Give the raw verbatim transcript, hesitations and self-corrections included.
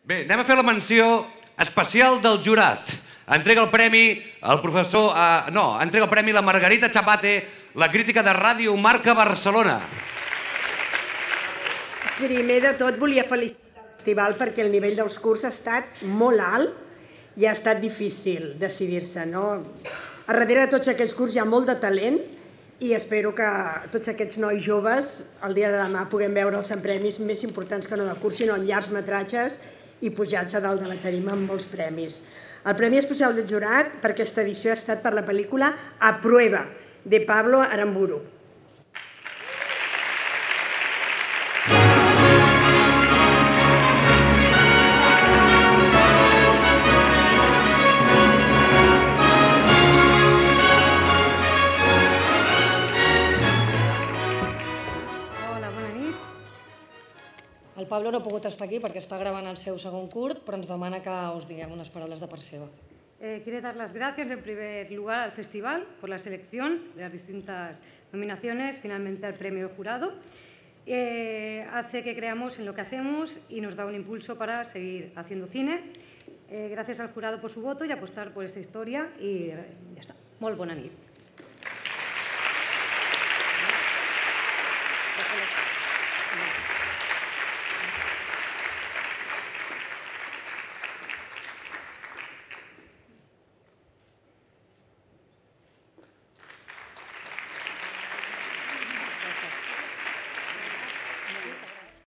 Bé, anem a fer la menció especial del jurat. Entrega el premi el professor... No, entrega el premi la Margarita Chapate, la crítica de Ràdio Marca Barcelona. Primer de tot volia felicitar el festival perquè el nivell dels cursos ha estat molt alt i ha estat difícil decidir-se. A darrere de tots aquests cursos hi ha molt de talent i espero que tots aquests nois joves el dia de demà puguem veure'ls en premis més importants que no de curs, sinó en llargs metratges i pujats a dalt de la tarima amb molts premis. El Premi Especial del Jurat per aquesta edició ha estat per la pel·lícula A Prueba, de Pablo Aramburu. El Pablo no ha pogut estar aquí perquè està gravant el seu segon curt, però ens demana que us diguem unes paraules de part seva. Quiero dar las gracias en primer lugar al festival por la selección de las distintas nominaciones, finalmente al premio jurado. Hace que creamos en lo que hacemos y nos da un impulso para seguir haciendo cine. Gracias al jurado por su voto y apostar por esta historia y ya está. Molt bona nit.